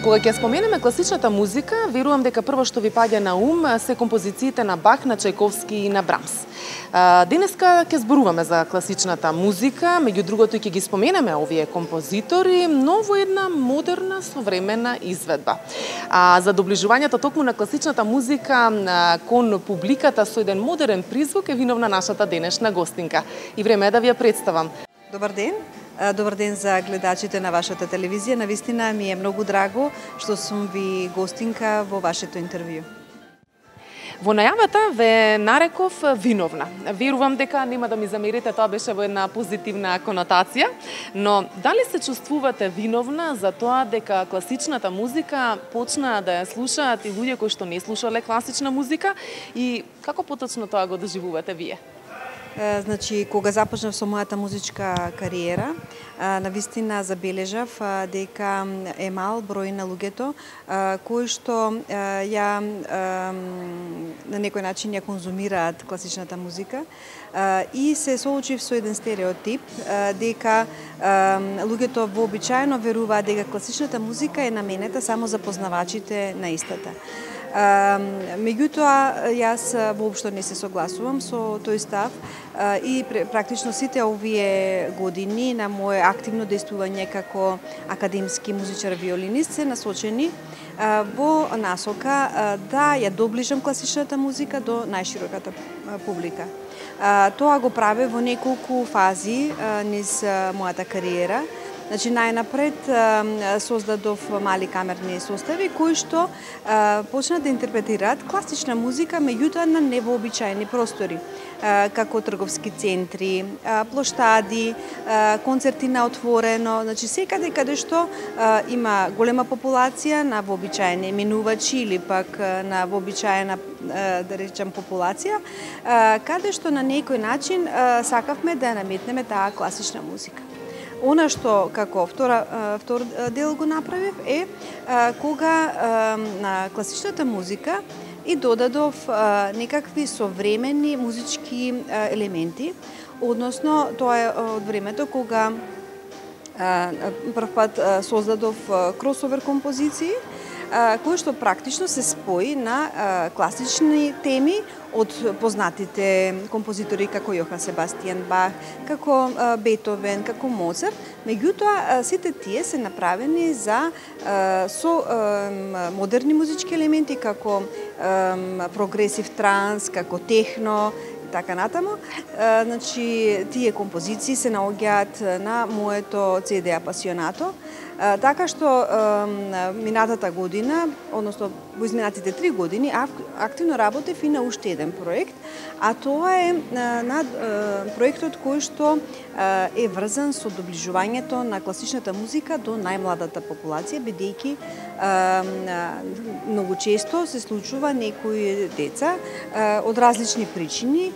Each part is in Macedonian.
Кога ќе споменеме класичната музика, верувам дека прво што ви паѓа на ум се композициите на Бах, на Чајковски и на Брамс. Денеска ќе зборуваме за класичната музика, меѓу другото и ќе ги споменеме овие композитори, но во една модерна, современа изведба. За доближувањето токму на класичната музика кон публиката со еден модерен призвук е виновна нашата денешна гостинка. И време е да ви ја представам. Добар ден. Добар ден за гледачите на вашата телевизија. Навистина ми е многу драго што сум ви гостинка во вашето интервју. Во најавата ве нареков виновна. Верувам дека нема да ми замерите, тоа беше во една позитивна конотација, но дали се чувствувате виновна за тоа дека класичната музика почна да ја слушаат и луѓе кои што не слушале класична музика и како поточно тоа го доживувате вие? Значи, кога започнав со мојата музичка кариера, навистина забележав дека е мал број на луѓето кои што ја на некој начин ја конзумираат класичната музика и се соочив со еден стереотип дека луѓето вообичаено веруваат дека класичната музика е наменета само за познавачите на истата. Меѓутоа, јас воопшто не се согласувам со тој став и практично сите овие години на моје активно действување како академски музичар-виолинист се насочени во насока да ја доближам класичната музика до најшироката публика. Тоа го праве во неколку фази низ мојата кариера. Значи, најнапред создадов мали камерни состави кои што почнаа да интерпретираат класична музика, меѓутоа на невообичаени простори, како трговски центри, плоштади, концерти на отворено, значи секаде каде што има голема популација на вообичаени минувачи или пак на вообичаена, да речем, популација, каде што на некој начин сакавме да наметнеме таа класична музика. Она што како втор дел го направив е кога на класичната музика и додадов некакви современи музички елементи, односно тоа е од времето кога првпат создадов кросовер композиции, кој што практично се спои на класични теми од познатите композитори како Јохан Себастијан Бах, како Бетовен, како Моцарт, меѓутоа сите тие се направени со модерни музички елементи како прогресив транс, како техно, така натаму. Значи, тие композиции се наоѓаат на моето CD Апасионато, така што минатата година, односно во изминатите 3 години, активно работев и на уште еден проект, а тоа е проектот кој што е врзан со доближувањето на класичната музика до најмладата популација, бидејќи многу често се случува некои деца од различни причини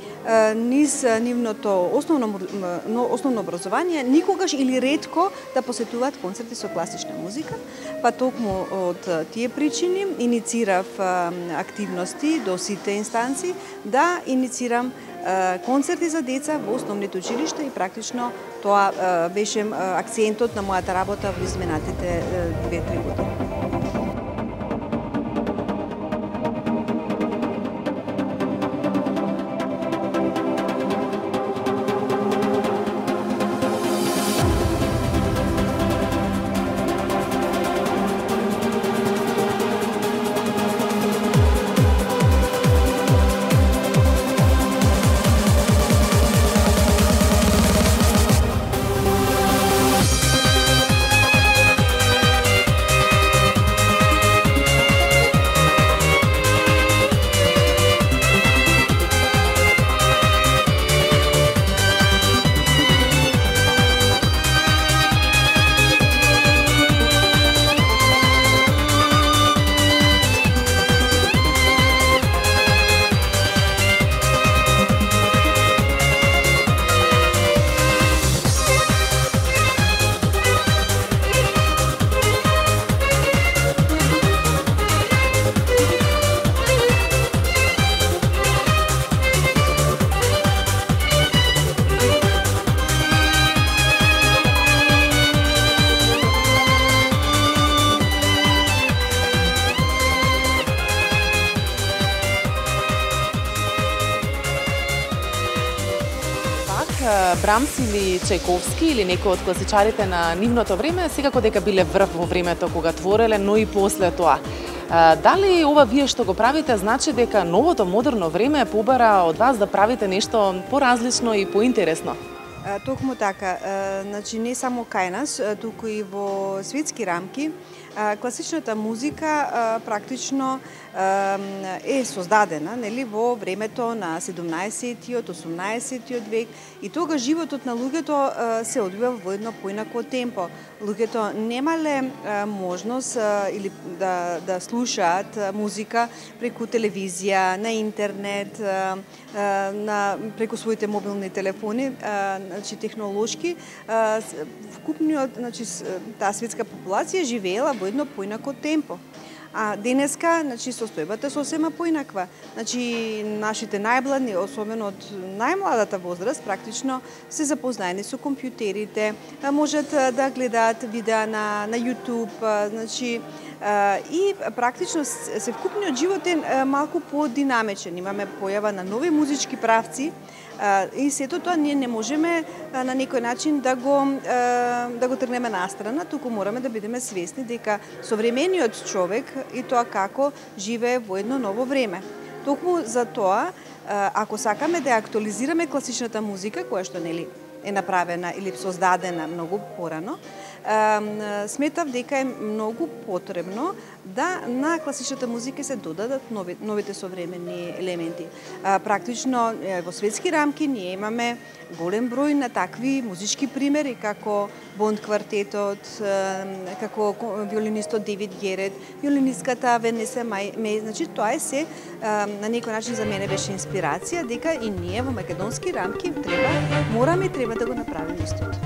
низ нивното основно образование никогаш или ретко да посетуваат концерти со класична музика, па токму од тие причини иницирав активности до сите инстанции да иницирам концерти за деца во основните училишта и практично тоа беше акцентот на мојата работа во изминатите 2-3 години. Брамс или Чајковски или некој од класичарите на нивното време, секако дека биле врв во времето кога твореле, но и после тоа. Дали ова вие што го правите значи дека новото модерно време побара од вас да правите нешто поразлично и поинтересно? Токму така, значи не само кај нас, туку и во светски рамки, класичната музика практично е создадена, нели, во времето на 17-тиот, 18-тиот век, и тога животот на луѓето се одвива во едно поинако темпо. Луѓето немале можност или да слушаат музика преку телевизија, на интернет, преку своите мобилни телефони, значи технолошки, вкупниот, значи таа светска популација живеела во едно поинако темпо. А денеска, значи, состојбата сосема поинаква. Значи, нашите најмлади, особено од најмладата возраст, практично се запознаени со компјутерите, можат да гледаат видеа на YouTube, значи, и практично се вкупниот живот е малку подинамичен. Имаме појава на нови музички правци, и сето тоа ние не можеме на некој начин да го тргнеме настрана, туку мораме да бидеме свесни дека современиот човек и тоа како живее во едно ново време. Токму за тоа, ако сакаме да актуализираме класичната музика, која што нели е направена или создадена многу порано, сметав дека е многу потребно да на класичната музика се додадат новите современи елементи. Практично во светски рамки ние имаме голем број на такви музички примери, како Бонд квартетот, како виолинистот Девид Герет, виолинистката Венеса Мей. Значи тоа е се на некој начин за мене беше инспирација дека и ние во македонски рамки мораме да го направиме истото.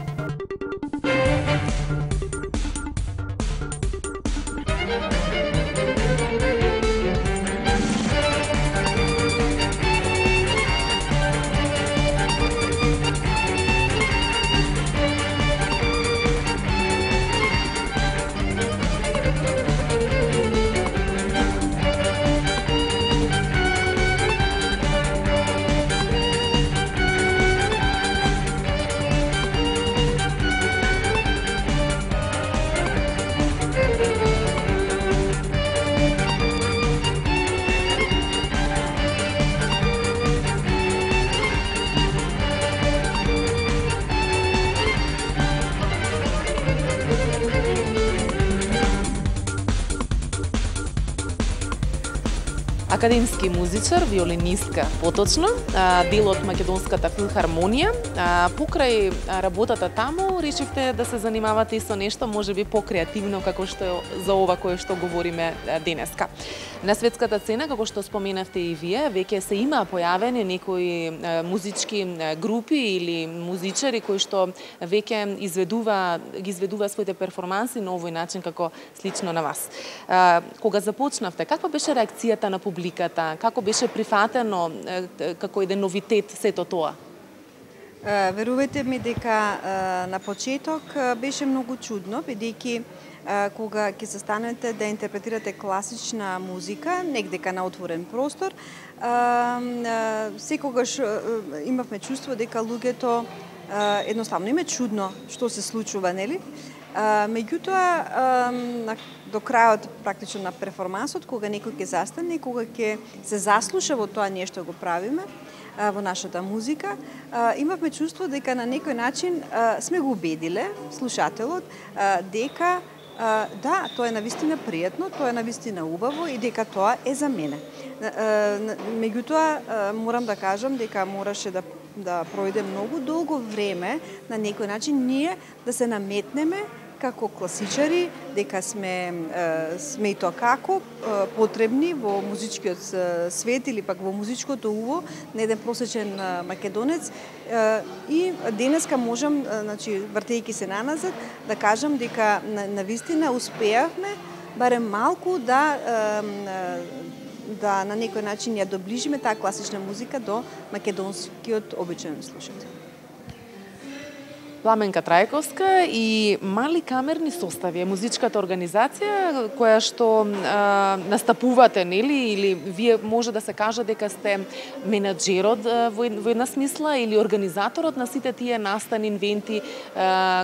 Академски музичар, виолинистка поточно, дел од Македонската филхармонија. Покрај работата таму, решивте да се занимавате и со нешто можеби покреативно како што за ова кое што говориме денеска. На светската сцена, како што споменавте и вие, веќе се има појавени некои музички групи или музичари кои што веќе ги изведува своите перформанси на овој начин како слично на вас. Кога започнавте, каква беше реакцијата на публиката? Како беше прифатено како еден новитет сето тоа? Верувајте ми дека на почеток беше многу чудно, бидејќи кога ќе се станете да интерпретирате класична музика, негдека на отворен простор, секогаш имавме чувство дека луѓето едноставно им е чудно што се случува, нели? Меѓутоа, до крајот практично на перформансот, кога некој ќе застане, кога ќе се заслуша во тоа нешто го правиме, во нашата музика, имавме чувство дека на некој начин сме го убедиле слушателот дека да, тоа е навистина пријатно, тоа е навистина убаво и дека тоа е за мене. Меѓутоа, морам да кажам дека мораше да пројде многу долго време на некој начин ние да се наметнеме како класичари, дека сме и тоа како потребни во музичкиот свет или пак во музичкото уво на еден просечен македонец. И денеска можам, значи, вртејќи се наназад, да кажам дека навистина успеавме барем малку да на некој начин ја доближиме таа класична музика до македонскиот обичаен слушател. Пламенка Трајковска и Мали камерни состави е музичката организација која што настапувате, нели, или вие може да се каже дека сте менаџерот во една смисла или организаторот на сите тие настани, инвенти,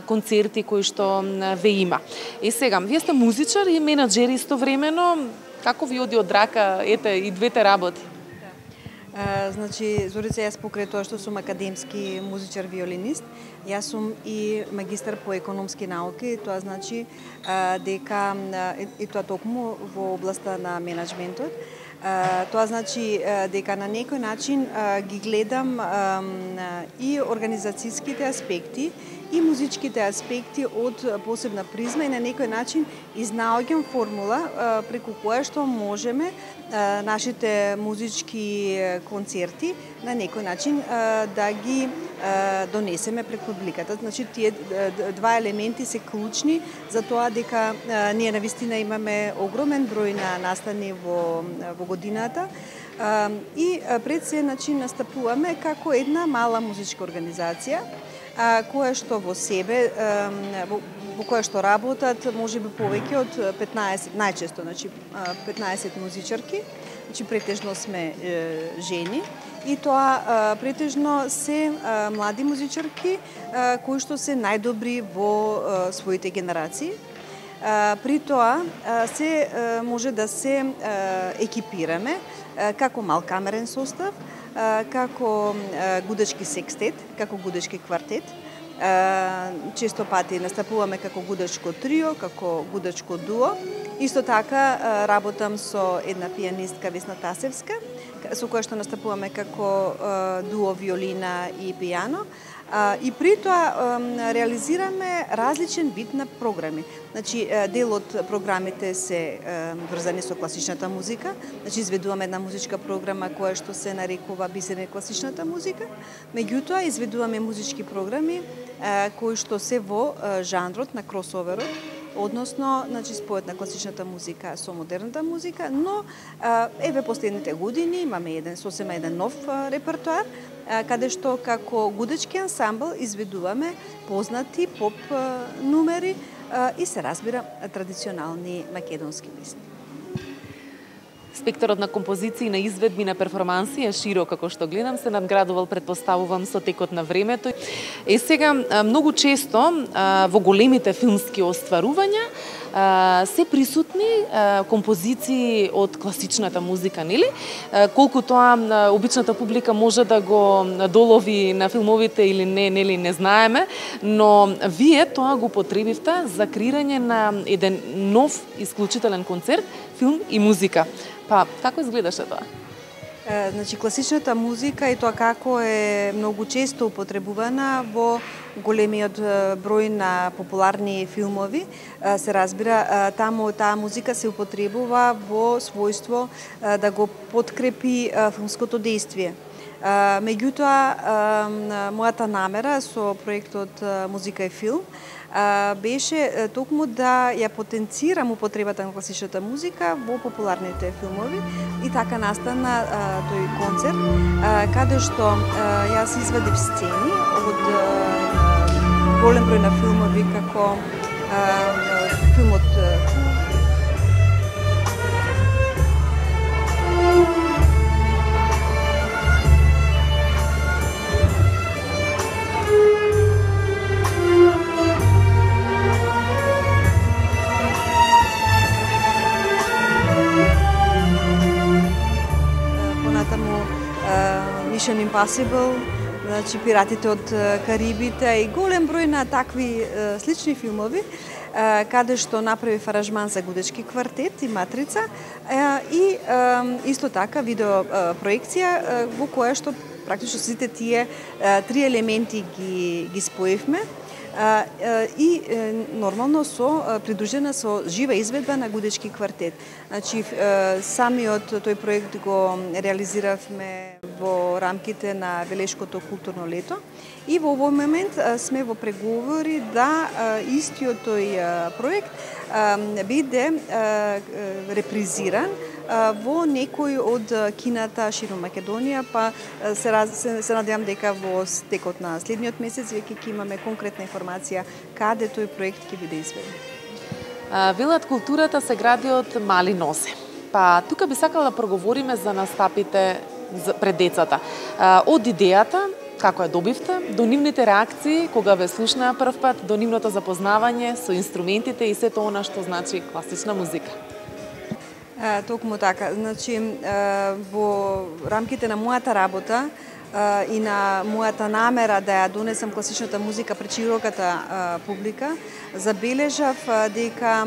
концерти кои што ве има. И сега, вие сте музичар и менаџер истовремено, како ви оди од рака, ете, и двете работи? Значи, Зорица, јас покрај тоа што сум академски музичар виолинист, јас сум и магистар по економски науки, тоа значи дека и тоа токму во областа на менеджментот. Тоа значи дека на некој начин ги гледам и организацијските аспекти и музичките аспекти од посебна призма и на некој начин изнаоѓам формула преку која што можеме нашите музички концерти на некој начин да ги донесеме пред публиката. Значи, тие два елементи се клучни за тоа дека ние навистина имаме огромен број на настани во годината и пред се начин настапуваме како една мала музичка организација која што во себе, во која што работат можеби повеќе од 15, најчесто, значи 15 музичарки, значи претежно сме жени и тоа претежно се млади музичарки кои што се најдобри во своите генерации. При тоа се може да се екипираме како малкамерен состав, како гудачки секстет, како гудачки квартет. Често пати настапуваме како гудачко трио, како гудачко дуо. Исто така работам со една пианистка Весна Тасевска, со која што настапуваме како дуо виолина и пијано. И при тоа реализираме различен вид на програми. Значи, дел од програмите се врзани со класичната музика. Значи, изведуваме една музичка програма која што се нарекува Бисере класичната музика. Меѓутоа, изведуваме музички програми кои што се во жанрот на кросоверот, односно, значи, спојот на класичната музика со модерната музика, но еве последните години имаме сосема еден нов репертоар, каде што како гудачки ансамбл изведуваме познати поп нумери и се разбира традиционални македонски песни. Спектарот на композиции, на изведби, на перформанси е широк, како што гледам, се надградувал, предпоставувам, со текот на времето. И сега, многу често во големите филмски остварувања се присутни композиции од класичната музика, нели? Колку тоа обичната публика може да го долови на филмовите или не, нели, не знаеме, но вие тоа го потребивте за креирање на еден нов исклучителен концерт, филм и музика. Па, како изгледаше тоа? Значи, класичната музика и тоа како е многу често употребувана во големиот број на популарни филмови, се разбира, таму таа музика се употребува во својство да го подкрепи филмското дејствие. Меѓутоа, мојата намера со проектот Музика и филм беше токму да ја потенцирам употребата на класичната музика во популарните филмови и така настана тој концерт, каде што јас извадив сцени од голем број на филмови како филмот Mission Impossible, значи Пиратите од Карибите и голем број на такви слични филмови, каде што направи аранжман за гудачки квартет и Матрица и исто така видео проекција во која што практично сите тие три елементи ги споевме и нормално придружена со жива изведба на гудечки квартет. Значи, самиот тој проект го реализиравме во рамките на Велешкото културно лето и во овој момент сме во преговори да истиот тој проект биде репризиран во некој од кината широм Македонија, па се надевам дека во текот на следниот месец веќе ќе имаме конкретна информација каде тој проект ќе биде изведен. Велат културата се гради од мали нозе. Па тука би сакала да проговориме за настапите пред децата. Од идејата, како ја добивте, до нивните реакции кога ве слушнаа прв пат, до нивното запознавање со инструментите и сето она што значи класична музика. Токму така. Значи, во рамките на мојата работа и на мојата намера да ја донесам класичната музика пред широката публика, забележав дека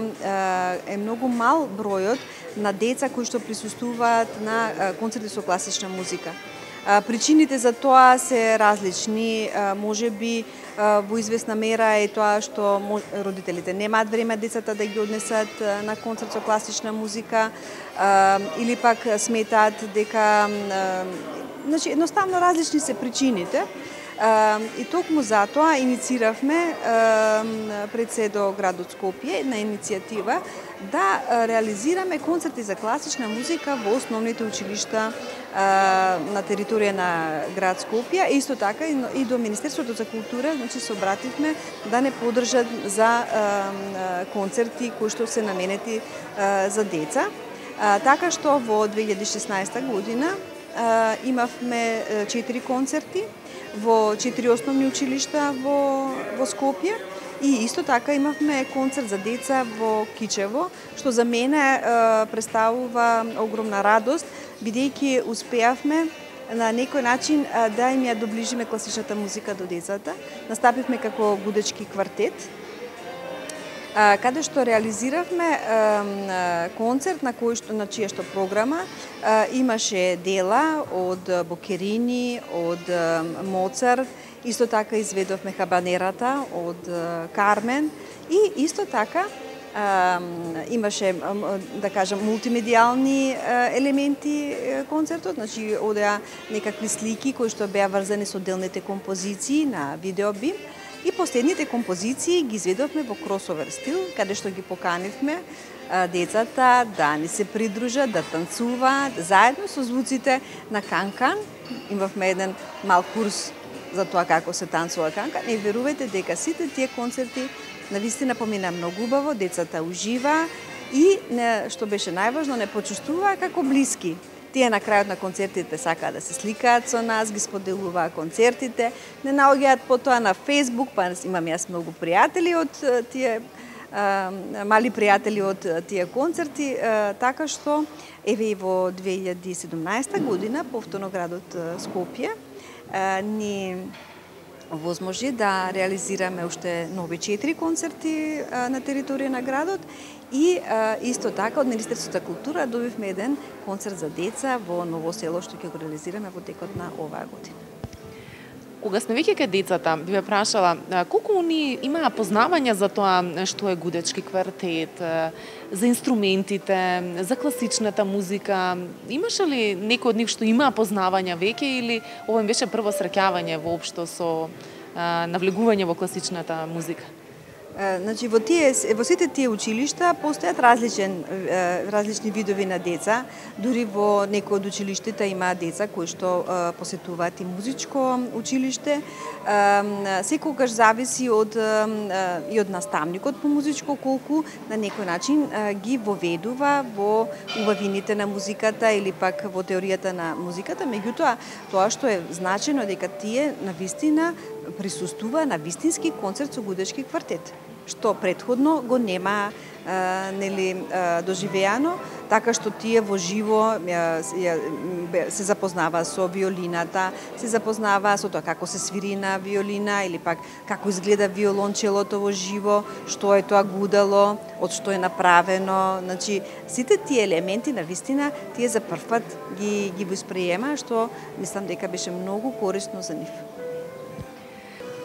е многу мал бројот на деца кои што присуствуваат на концерти со класична музика. Причините за тоа се различни, можеби во известна мера е тоа што родителите немаат време децата да ги однесат на концерт со класична музика, или пак сметаат дека значи едноставно различни се причините. И токму затоа иницииравме пред се до градот Скопје една иницијатива да реализираме концерти за класична музика во основните училишта на територија на град Скопје. Исто така и до Министерството за култура, значи се обративме да не поддржат за концерти кои што се наменети за деца. Така што во 2016 година имавме 4 концерти во 4 основни училишта во Скопје и исто така имавме концерт за деца во Кичево, што за мене представува огромна радост, бидејќи успеавме на некој начин да им ја доближиме класичната музика до децата. Настапивме како гудечки квартет, каде што реализиравме концерт на чија што програма имаше дела од Бокерини, од Моцарт, исто така изведовме Хабанерата од Кармен и исто така имаше, да кажам, мултимедијални елементи концертот, значи одеа некакви слики кои што беа врзани со отделните композиции на видеобим. И последните композиции ги изведовме во кросовер стил, каде што ги поканивме децата да ни се придружат, да танцуваат, заедно со звуците на канкан. Имавме еден мал курс за тоа како се танцува канкан и верувајте дека сите тие концерти навистина помина многу убаво, децата ужива и, што беше најважно, не почувствуваа како блиски. Тие на крајот на концертите сакаат да се сликаат со нас, ги споделуваат концертите, не наоѓаат потоа на Facebook, па имам јас многу пријатели од тие мали пријатели од тие концерти, така што еве и во 2017 година повторно градот Скопје ни возможи да реализираме уште нови 4 концерти на територија на градот и исто така од Министерството за култура добивме еден концерт за деца во Ново село што ќе го реализираме во текот на оваа година. Кога сме веќе кај децата, би ве прашала, колку они имаа познавање за тоа што е гудечки квартет, за инструментите, за класичната музика? Имаше ли некој од нив што имаа познавање веќе или ова им беше прво среќавање воопшто со навлегување во класичната музика? Значи, во сите тие училишта постојат различни видови на деца. Дури во некои од училиштата има деца кои што посетуваат и музичко училиште. Секогаш зависи и од наставникот по музичко колку на некој начин ги воведува во убавините на музиката или пак во теоријата на музиката. Меѓутоа, тоа што е значено дека тие навистина присуствува на вистински концерт со гудечки квартет, што претходно го нема доживеано, така што тие во живо се запознава со виолината, се запознава со тоа како се свири на виолина или пак како изгледа виолончелото во живо, што е тоа гудало, од што е направено. Значи, сите тие елементи на вистина тие за прв пат ги восприема, што мислам дека беше многу корисно за нив.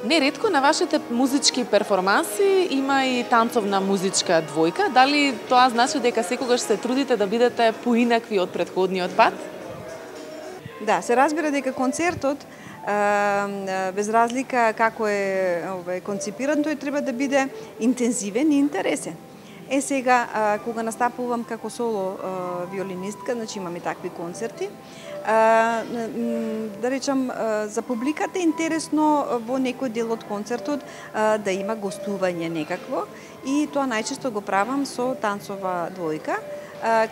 Неретко на вашите музички перформанси има и танцовна музичка двојка. Дали тоа значи дека секогаш се трудите да бидете поинакви од претходниот пат? Да, се разбира дека концертот без разлика како е концепиран, тој треба да биде интензивен и интересен. Сега, кога настапувам како соло виолинистка, значи имам и такви концерти, да речам, за публиката е интересно во некој дел од концертот да има гостување некакво, и тоа најчесто го правам со танцова двојка,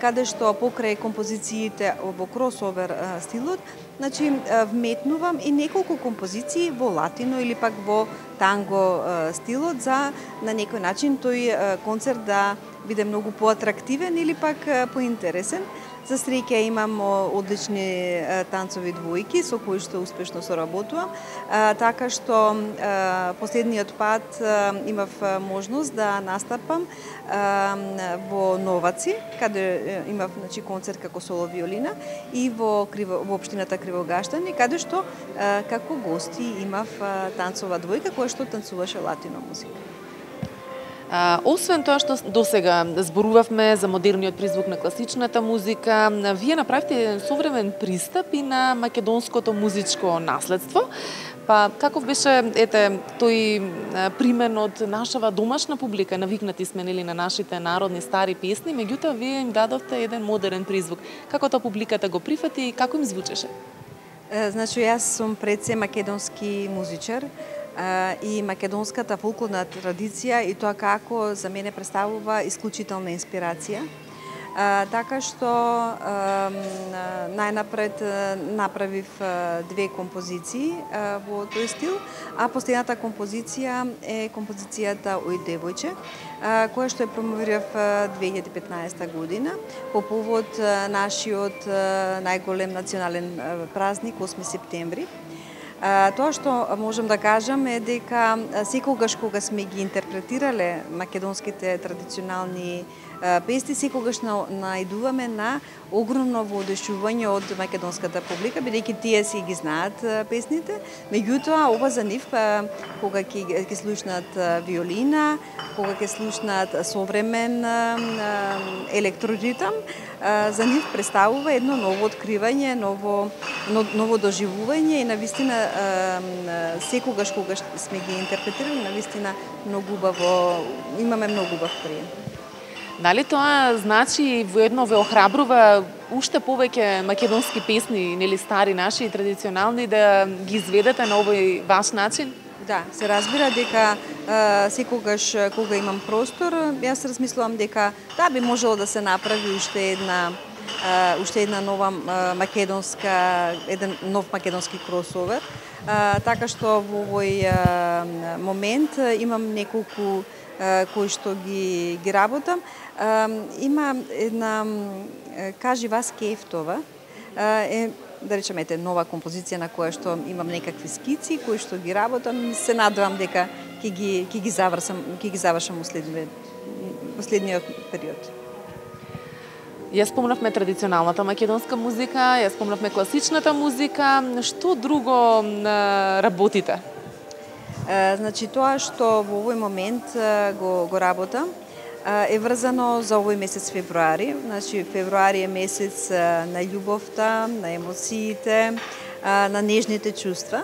каде што покрај композициите во кросовер стилот, значи вметнувам и неколку композиции во латино или пак во танго стилот, за на некој начин тој концерт да биде многу поатрактивен или пак поинтересен. За среќа имам одлични танцови двојки со кои што успешно соработувам, така што последниот пат имав можност да настапам во Новаци, каде имав, значи, концерт како соло виолина, и во општината Кривогаштани, каде што како гости имав танцова двојка која што танцуваше латино музика. Освен тоа што досега зборувавме за модерниот призвук на класичната музика, вие направите еден современ пристап и на македонското музичко наследство. Па каков беше тој примен од нашава домашна публика? Навикнати сме на нашите народни стари песни, меѓутоа вие им дадовте еден модерен призвук. Како тоа публиката го прифати и како им звучеше? Значи, јас сум пред се македонски музичар, и македонската фолклорна традиција и тоа како за мене представува исклучителна инспирација. Така што најнапред направив две композиции во тој стил, а последната композиција е композицијата Ој девојче, која што ја промовирав 2015 година по повод нашиот најголем национален празник 8 септември. Тоа што можам да кажам е дека секогаш кога сме ги интерпретирале македонските традиционални песни, секогаш најдуваме на огромно воодушевување од македонската публика, бидејќи тие си ги знаат песните. Меѓутоа, ова за нив, кога ќе слушнат виолина, кога ќе слушнат современ електроритам, за нив представува едно ново откривање, ново доживување, и навистина секогаш кога сме ги интерпретирали, навистина многу убаво, имаме многу убав прием. Дали тоа значи воедно ве охрабрува уште повеќе македонски песни, нели стари наши и традиционални, да ги изведете на овој ваш начин? Да, се разбира дека секогаш кога имам простор, јас размислувам дека да би можело да се направи уште една нова македонска, еден нов македонски кросовер. Така што во овој момент имам неколку кои што ги работам. Има една Кажи вас Кефтова, да речеме нова композиција на која што имам некакви скици кои што ги работам, се надевам дека ќе ги завршам последниот период. Ја спомнавме традиционалната македонска музика, ја спомнавме класичната музика, што друго работите? Значи, тоа што во овој момент го работам е врзано за овој месец февруари. Значи, февруари е месец на љубовта, на емоциите, на нежните чувства.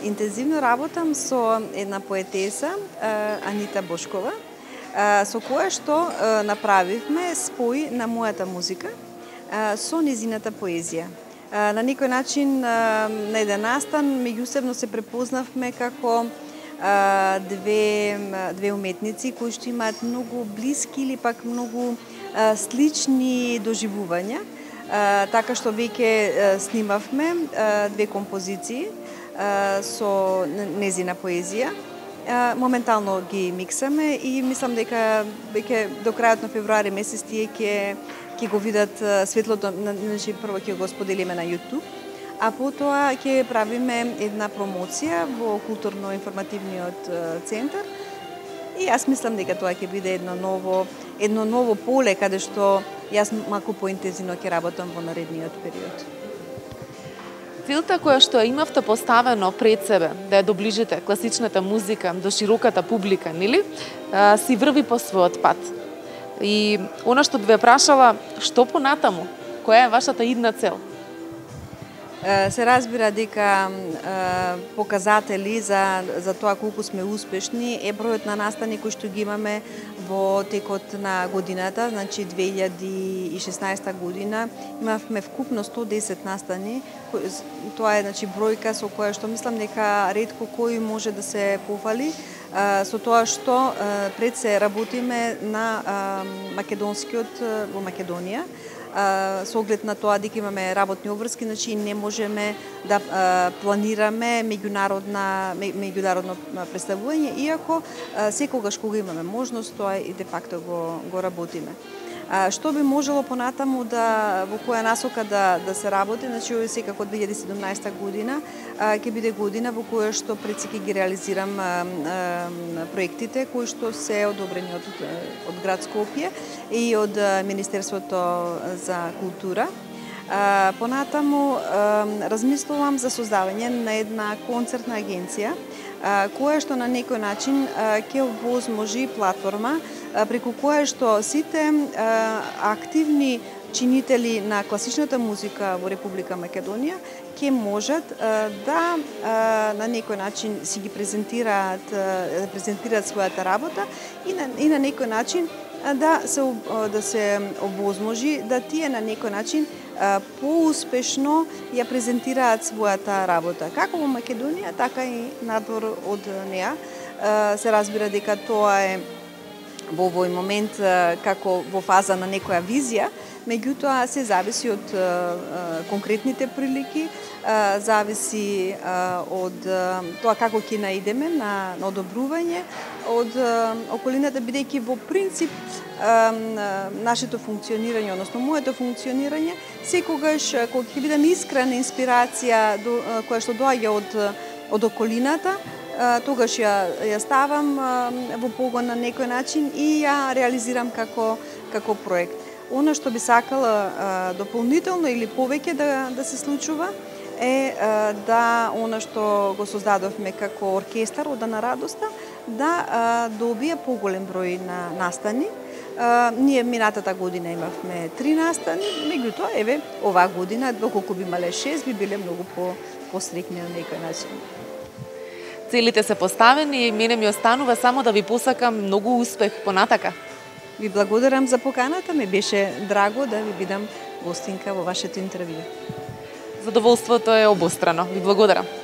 Интензивно работам со една поетеса, Анита Бошкова, со која што направивме спој на мојата музика со незината поезија. На некој начин, на еден настан, меѓусебно се препознавме како две уметници кои што имаат многу блиски или пак многу слични доживувања. Така што веќе снимавме две композиции со незина поезија. Моментално ги миксаме и мислам дека веќе до крајот на февруари месец тие ќе го видат светлото, значи прво ќе го споделиме на YouTube, а потоа ќе правиме една промоција во културно-информативниот центар. И јас мислам дека тоа ќе биде едно ново поле каде што јас малку поинтензивно ќе работам во наредниот период. Целта која што имавте поставено пред себе, да ја доближите класичната музика до широката публика, нели? Си врви по својот пат. И она што би ве прашала, што понатаму? Која е вашата идна цел? Се разбира дека показатели за тоа колку сме успешни е бројот на настани кои што ги имаме во текот на годината, значи 2016 година имавме вкупно 110 настани. Тоа е значи бројка со која што мислам дека ретко кој може да се пофали со тоа што пред се работиме на македонскиот во Македонија. Со оглед на тоа дека имаме работни обврски, значи не можеме да планираме меѓународно представување, иако секогаш кога имаме можност, тоа и де факто го работиме. Што би можело понатаму во која насока да се работи, значи секако 2017 година ќе биде година во која што пред се ќе ги реализирам проектите кои што се одобрени од град Скопје и од Министерството за култура. Понатаму размислувам за создавање на една концертна агенција која што на некој начин ќе овозможи платформа преку која што сите активни чинители на класичната музика во Република Македонија ќе можат да на некој начин си ги презентираат својата работа и на некој начин да се овозможи да тие на некој начин поуспешно ја презентираат својата работа. Како во Македонија, така и надвор од неа. Се разбира дека тоа е во овој момент како во фаза на некоја визија, меѓутоа се зависи од конкретните прилики, зависи од тоа како ќе наидеме на одобрување од околината, бидејќи во принцип нашето функционирање, односно моето функционирање, секогаш кога ќе бидам искрена инспирација која што доаѓа од околината, тогаш ја ставам во погон на некој начин и ја реализирам како проект. Оно што би сакала дополнително или повеќе да се случува е да оно што го создадовме како оркестар Ода на радоста да добие поголем број на настани. Ние минатата година имавме 3 настани, меѓутоа еве оваа година доколку би имале 6 би биле многу посрекни на некој начин. Целите се поставени и мене ми останува само да ви посакам многу успех понатака. Ви благодарам за поканата, ме беше драго да ви бидам гостинка во вашето интервју. Задоволството е обострано. Ви благодарам.